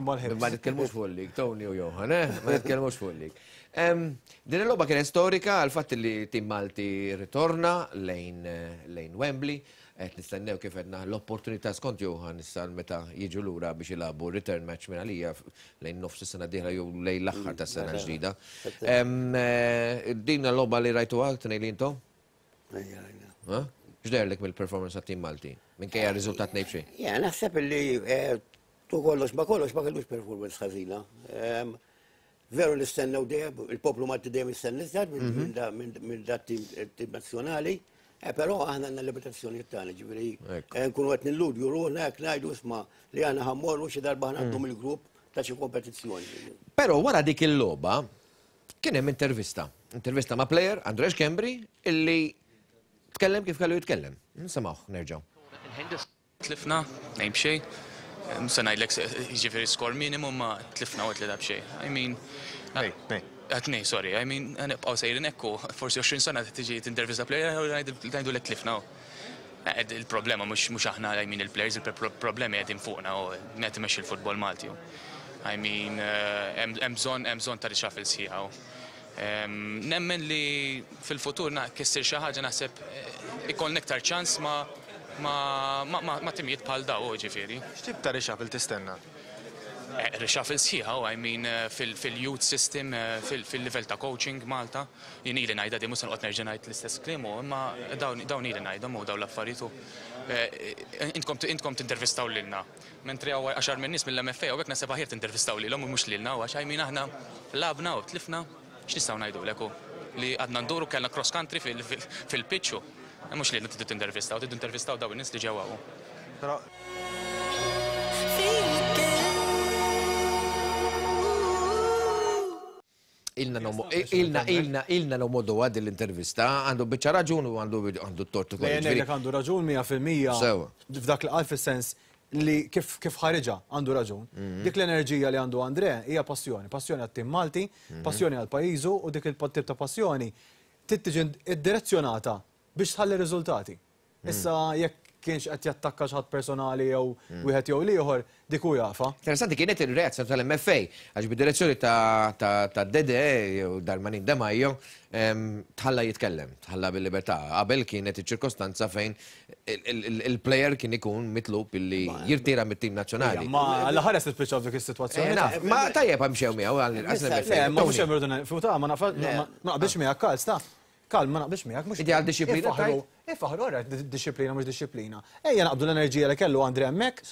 Ma nitkellmux fuq il-lig, Tony u Johan, eh? Ma nitkellmux fuq il-lig. Din il-logħba kienet storika għal fatt li tim Malti ritorna lejn lejn Wembley, qed nistennew kif għedna l-opportunità skont Johan issa meta jiġu lura biex jilagħbu return match minn għalija lejn nofs is-sena d-dieħla jew lejn l-aħħar tas-sena ġdida. Din il-logħba li rajtu għal tnejn li intom? X'deherlek mill-performance tat-tim Malti? Minkejja r-riżultat ngħid xejn. Ja, naħseb li tu kollox ma kollox ma kellux performance ħażina. Veru nistennew dejjem, il-poplu Malti dejjem jistenna iżgħar minn dat tim nazzjonali, però aħna għandna limitazzjonijiet tagħna, ġifieri nkunu qed nilludju ruħna hekk ngħidu isma' li aħna ħa mmorru xi darba ħa ngħaddu mill-grupp ta' xi kompetizzjoni. Però wara dik il-logħba kien hemm intervista, intervista ma' player Andrea Schembri illi tkellem kif kellu jitkellem. Nisimgħuh nerġgħu. Tlifna, ngħid b'xejn. Se ngħidlek jiġifieri skor minimum ma tlifna u tlieta b'xejn. I mean, tnejn, sorry, I mean, nibqgħu sejrin hekk u forsi għoxrin sena tiġi tintervista player ngħidu lek tlifna. Il-problema mhux aħna, I mean, il-players, il-problemi qegħdin fuqna u qed imexxi l-futbol Malti. I mean, hemm bżonn hemm bżonn ta' reshuffle sħiħa. Nemmen li fil-futur kissir xi ħaġa naħseb ikollna iktar ċans ma' ma, ma, ma, ma timijiet bħal daw, ġifieri. X'tip ta' reshuffle tistenna? Reshuffle sħiħa, I mean, fil-youth system, fil-level ta' coaching Malta. Jien ili ngħidha di mhux se noqgħod nerġa' ngħid l-istess kliem, imma dawn ili ngħidhom u dawn l-affarijiet. Intkom intkom tintervistaw lilna. Mentri hawn għaxar minn nies mill-M F A u hekk naħseb aħjar tintervistaw lilhom u mhux lilna, għax I mean aħna lgħabna u tlifna, x'nistgħu ngħidulek hu? Li għadna nduru kellna cross country fil-pitch. Mhux li tridu tintervistaw, tridu intervistaw daw in-nies li ġewwa. Però Ilna nomo- ilna, ilna, ilna nomodu għad l-intervista, għandu biċċa raġun u għandu għandu t-tortu Le, ngħidlek għandu raġun mija fil-mija Sewa. F'dak li qal fis-sens li kif kif ħariġa għandu raġun. Mhm. Dik l-enerġija li għandu Andre hija passjoni, passjoni għat-tim Malti, Mhm. passjoni għal pajjiżu u dik il-tip ta' passjoni trid tiġi iddirezzjonata biex tħalli riżultati. Mhm. Issa jekk kienx qed jattakka xi ħadd personali jew wieħed jew l-ieħor, dik hu jafha. Interessanti kienet il-reazzjoni tal-M F A, għax bid-direzzjoni ta' ta' ta' Dede jew Darmanin Demajo em, tħalla jitkellem, tħalla bil-libertà. Qabel kienet iċ-ċirkostanza fejn il- il- il-player kien ikun mitlub illi jirtira mit-tim nazzjonali. Ma l-ħares nispiċċaw f'dik is-sitwazzjoni. Eh, naf, ma tajjeb għamxew miegħu għall-inqas l-M F A. Le, ma mhux hemm irridu futa, ma naf ma naqbilx miegħek, Karl, sta. Karl, ma naqbilx miegħek, mhux. Inti għal dixxiplina Ifaħru- Ifaħru, ora, dixxiplina mhux dixxiplina. Ejja naqbdu l-enerġija li kellu Andre hemmhekk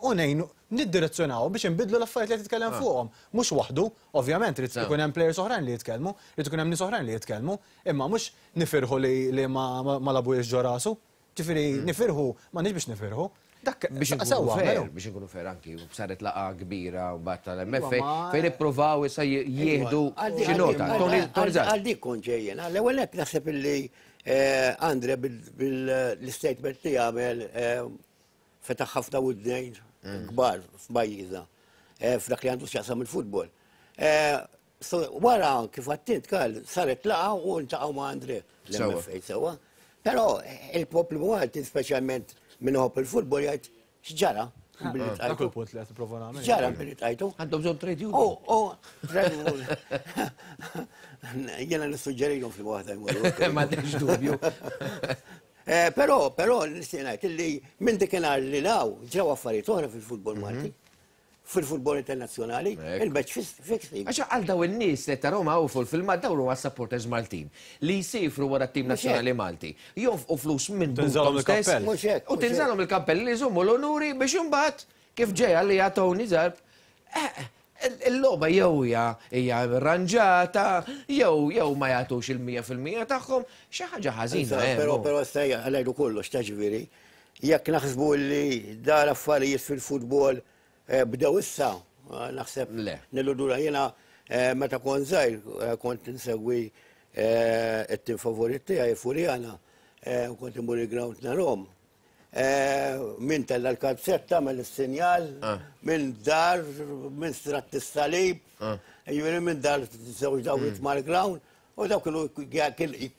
u ngħinu niddirezzjonaw biex inbidlu l-affarijiet li qed titkellem Ah. fuqhom. Mhux waħdu, ovvjament, irid Sewa. ikun hemm players oħrajn li jitkellmu, irid ikun hemm nies oħrajn li jitkellmu, imma mhux nifirħu li li ma ma ma labujiex ġo rasu. Ġifieri nifirħu, ma nix biex nifirħu. Dak Biex nkunu sewwa, fair, melu. Biex nkunu fair anki, u saret laqgħa kbira u bat tal-M F A Iva, ma- fejn ippruvaw issa jieħdu Għal- xi nota. għal- Tony għal- Tony Zar. Għal dik kont ġejjen. L-ewwel hekk naħseb illi eh, Andre bil-statement li għamel eh, fetaħ ħafna widnejn kbar f'pajjiżna eh, f'dak li għandu x'jaqsam il-futbol. Eh, so, wara kif għedt int, Karl, saret laqgħa u ntaqgħu ma' Andre l-M F A sewwa. Però eh, il-poplu Malti, speċjalment min iħobb il-futbol, jgħid x'ġara billi Dak tajtu. il-punt li qed nipprova nagħmel. X'ġara billi tajtu? Għandhom bżonn trade union. Oh, oh, trade union. Jena nissuġġerilhom fil-waħda jmorru. M'għandekx dubju. Eh, Però, però, nixtieq ngħid illi minn dikinhar li law ġew affarijiet oħra fil-futbol Malti, fil-futbol internazzjonali, il-match fixing. Għax għal daw in-nies li tarahom hawn fuq il-filmat, dawn huma supporters Maltin li jsifru wara t-tim Mhux hekk. nazzjonali Malti. Jonfqu flus minn Tinżalhom buthom stess. il-kappell. Mhux hekk, U mhux tinżalhom il-kappell li jżommu l-onuri biex imbagħad kif ġeja li Tony Zarb eh, il-logħba jew hija hija arranġata jew jew ma jagħtux il-mija fil-mija tagħhom, xi ħaġa ħażina. eh, Però, mo. però stajja, għalajdu kollox, ta' ġifieri, jekk naħsbu li dar affarijiet fil-futbol eh, bdew issa, eh, naħseb nilludura jena eh, meta kont żgħir eh, kont insegwi eh, it-tim favorit tiegħi, Furjana, eh, u kont imur il-ground narahom. Eh, Min tella l-kalzetta, mill sinjal, minn dar, minn strat is-salib, ġifieri minn dar żewġ dawrit mal-ground, u dawk kienu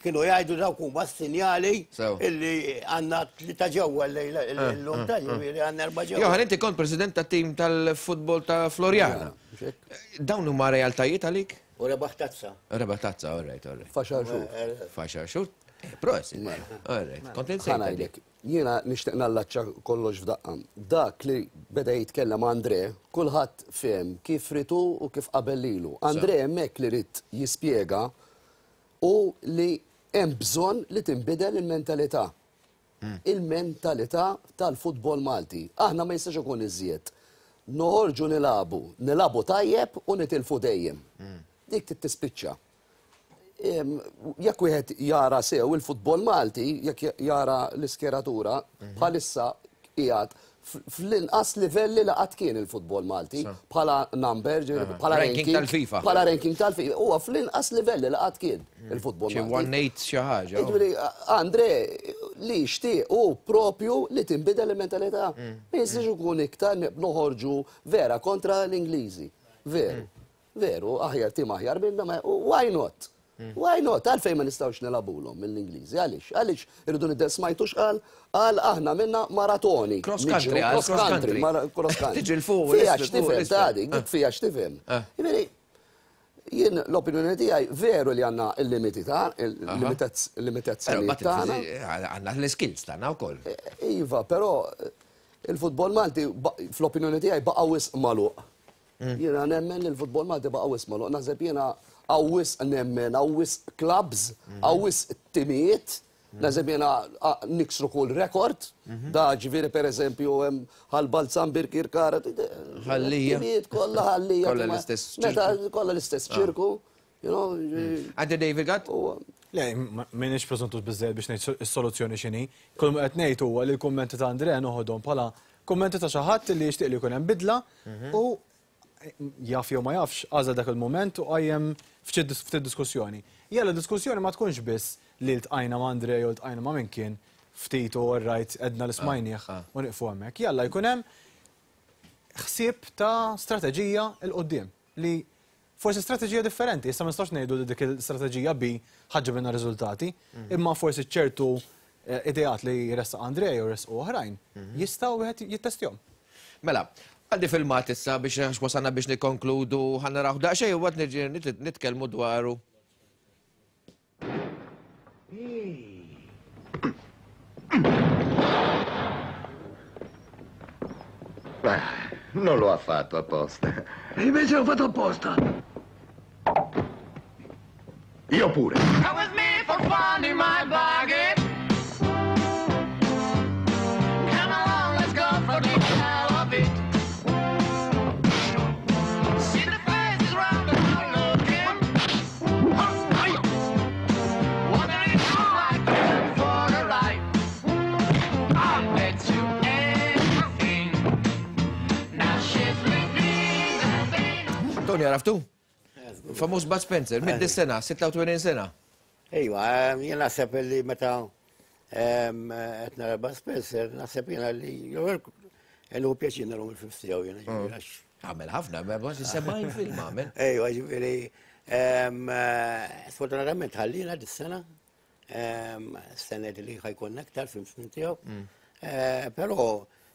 kienu jgħidu dawk huma s-sinjali Sew. illi għandna tlieta ġewwa llejla llum ta' ġifieri għandna erba' ġewwa. Johan, inti kont president ta' tim tal-futbol ta' Floriana. Dawn huma realtajiet għalik? U rebaħ tazza. Rebaħ tazza, all right, all right. F'għaxar xhur. F'għaxar xhur? Eh, Prosit. All right, kont insejt. Ħa ngħidlek, jiena nixtieq nallaċċa kollox f'daqqa. Dak li beda jitkellem Andre, kulħadd fehem kif ritu u kif qabel lilu. Andre hemmhekk li rid jispjega u li hemm bżonn li tinbidel il-mentalità. Il-mentalità tal-futbol Malti. Aħna ma jistax ikun iżjed. Noħorġu nilagħbu, nilagħbu tajjeb u nitilfu dejjem. Dik tispiċċa. Em, Jekk wieħed jara sew il-futbol Malti, jekk jara l-iskeratura, bħalissa qiegħed fl-inqas livelli li qatt kien il-futbol Malti bħala number, ġifieri Aha. bħala Ranking ranking tal-FIFA. Bħala ranking tal-FIFA. Huwa fl-inqas livelli li qatt kien il-futbol Xi Malti. one eight xi ħaġa. Ġifieri, Andre, li xtieq u propju li tinbidel il-mentalità. Ma jistax ikun iktar noħorġu vera kontra l-Ingliżi. Veru. Veru, aħjar tim aħjar minna, ma why not? Why not? Għalfejn ma nistgħux nilagħbulhom mill-Ingliżi? Għaliex? Għaliex irridu nidder smajtux qal qal aħna minna maratoni. Cross country, Niġru, għal cross cross country, country. mara- cross country. Tiġi 'l fuq, Fija l-isfel, fuq, x'tifhem, l-isfel. ta' dik, dik fija x'tifhem. Ġifieri, jien l-opinjoni tiegħi veru li għandna il-limiti ta' il-limitazzjoni tagħna. Għandna l-skills tagħna wkoll. Iva, però il-futbol Malti ba- fl-opinjoni tiegħi baqa' wisq magħluq. Jiena nemmen li l-futbol Malti baqa' wisq magħluq. Naħseb jiena hawn wisq nemmen, hawn wisq clubs, hawn wisq timijiet. Naħseb jiena a- niksru kull rekord. Da ġifieri per eżempju hemm Ħal Balzan, Birkirkara. Ħallija. Timijiet kollha Ħallija. Kollha l-istess Meta ċirku. kollha l-istess ċirku. You know, Għaddi David Gatt? Le, m'iniex preżentus biżżejjed biex ngħid is-soluzzjoni x'inhi. Kull ma qed ngħid huwa li l-kummenti ta' Andrea noħodhom bħala kummenti ta' xi ħadd li jixtieq li jkun hemm bidla u jaf jew ma jafx għażel dak il-moment u qajjem ftit ftit diskussjoni. Jalla diskussjoni ma tkunx biss li ltqajna ma' Andrea jew ltqajna ma' min kien ftit u rajt edna li smajnieh u nieqfu hemmhekk. Jalla jkun hemm ħsieb ta' strateġija 'l quddiem li forsi strateġija differenti, issa ma nistax ngħidu li dik il-strateġija B ħa ġġibilna riżultati, imma forsi ċertu ideat li jressaq Andrej u jressqu oħrajn jistgħu wieħed jittestjhom. Mela, għandi filmat issa biex wasalna biex nikkonkludu, ħa naraw daqsxejn u waqt niġi nitkellmu dwaru. Beh, non lo ha fatto apposta. E invece l'ho fatto apposta. Io pure. Come with me for fun in my buggy. Come along, let's go for the hell of it. See the faces round and round looking. Wondering how I came for a ride. I'll bet you anything. Now she's living the thing. Tony, għaraftu? Famuż Bud Spencer, mid sena, sitta u tmenin sena. Ejwa, jien naħseb li meta qed nara Bud Spencer, naħseb jiena li jenu pjaċir narhom il-films tiegħu jiena ġifieri għax. Għamel ħafna, ma kważi sebgħin film għamel. Ejwa, ġifieri sfortunatament ħallina dis-sena, stennejt li ħajkun aktar films minn tiegħu. Però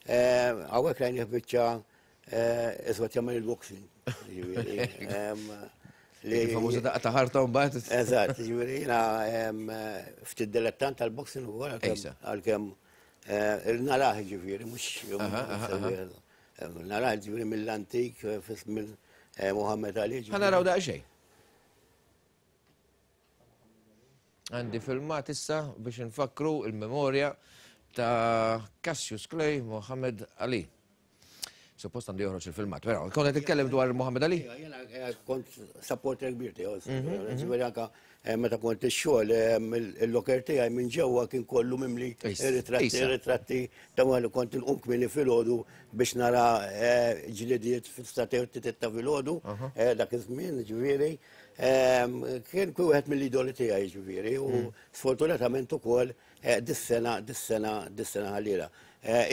hawnhekk rajnih biċċa iżwed jagħmel il-boxing. Il-famuża daqqa ta' ħarta mbagħad. Eżatt, ġifieri jiena ftit dilettant tal-boxing ukoll għalkemm narah ġifieri mhux narah ġifieri mill-antik minn Muhammad Ali. Ħa naraw daqsxejn. Għandi filmat issa biex nfakru il-memorja ta' Cassius Clay Muhammad Ali. Suppost għandu joħroġ il-filmat, però kont qed titkellem dwar Muhammad Ali? Jiena kont supporter kbir tiegħu, ġifieri anke meta kont ix-xogħol il-locker tiegħi minn ġewwa kien kollu mimli ritratti ritratti ta' li kont inqum kmieni filgħodu biex nara ġlidiet fis-satej ta' filgħodu dak iż-żmien, ġifieri kien kull wieħed mill-idoli tiegħi ġifieri u sfortunatament ukoll dis-sena dis-sena dis-sena ħallila.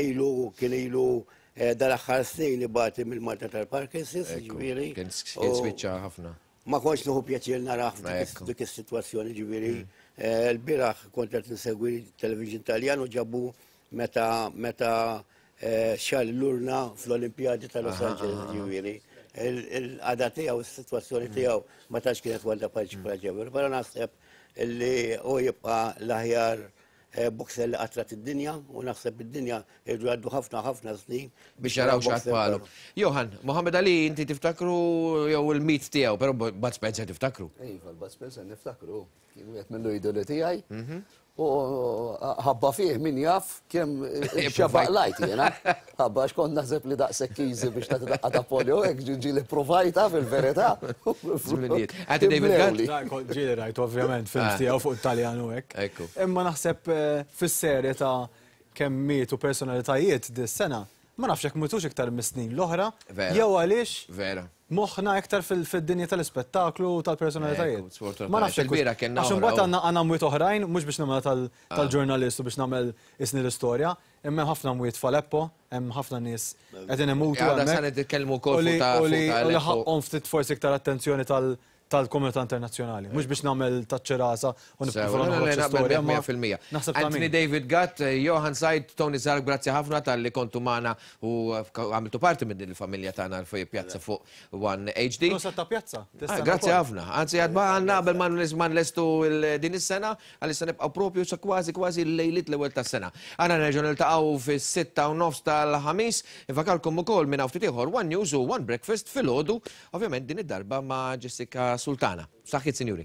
Ilu kien ilu dal-aħħar snin ibati mill-Malta tal-Parkinson's, ġifieri. Kien spiċċa ħafna. Ma kontx nieħu pjaċir narah f'dik is-sitwazzjoni, ġifieri. L-bieraħ kont qed insegwi television Taljan u ġabu meta meta xal l-urna fl-Olimpjadi ta' Los Angeles, ġifieri. Il-qagħda tiegħu, is-sitwazzjoni tiegħu ma tantx kienet waħda paċevoli, però naħseb li hu jibqa' l-aħjar boxer li qatrat id-dinja u naħseb id-dinja irdu għaddu ħafna ħafna snin biex jaraw x'għad bħalu. Johan, Muhammad Ali inti tiftakru jew il-mit tiegħu, però Bud Spencer tiftakru. Iva, Bud Spencer niftakru, kien wieħed mill-idoli tiegħi. U ħabba fih min jaf kemm xabaq lajt jiena. Ħabba għax kont naħseb li daqshekk easy biex tagħti daqqa ta' polio, hekk ġieli provajta fil-verità. Għati David Gatt? Ġieli rajt ovvjament films tiegħu fuq Italjan u hekk. Imma naħseb fis-serje ta' kemm mietu personalitajiet dis-sena, ma nafx hekk mutux iktar mis-snin l-oħra, jew għaliex Vera. moħħna iktar fid-dinja tal-ispettaklu u tal-personalitajiet. Ma nafx hekk. Għax imbagħad għandna għandna mwiet oħrajn, mhux biex nagħmel tal-ġurnalist u biex nagħmel isni l-istorja, imma hemm ħafna mwiet f'Aleppo, hemm ħafna nies qegħdin imutu hemmhekk. Sa nitkellmu wkoll fuq ta' U li ħaqhom ftit forsi iktar attenzjoni tal-komunità internazzjonali. Mhux biex nagħmel taċ-ċirasa u nipprova noħroġ istorja. mija fil-mija. Anthony David Gatt, Johan Said, Tony Zarb, grazzi ħafna tal-li kontu magħna u għamiltu parti minn din il-familja tagħna fuq pjazza fuq One H D. Proset ta' pjazza. Grazzi ħafna. Anzi għadba għandna qabel ma nlestu din is-sena, għalissa nibqgħu propju sa kważi kważi l-lejliet l-ewwel tas-sena. Aħna nerġgħu niltaqgħu fis-sitta u nofs tal-ħamis, infakalkom ukoll minn hawn ftit ieħor One News u One Breakfast filgħodu, ovvjament din id-darba ma' Jessica Sultana. Saħħit, sinjuri.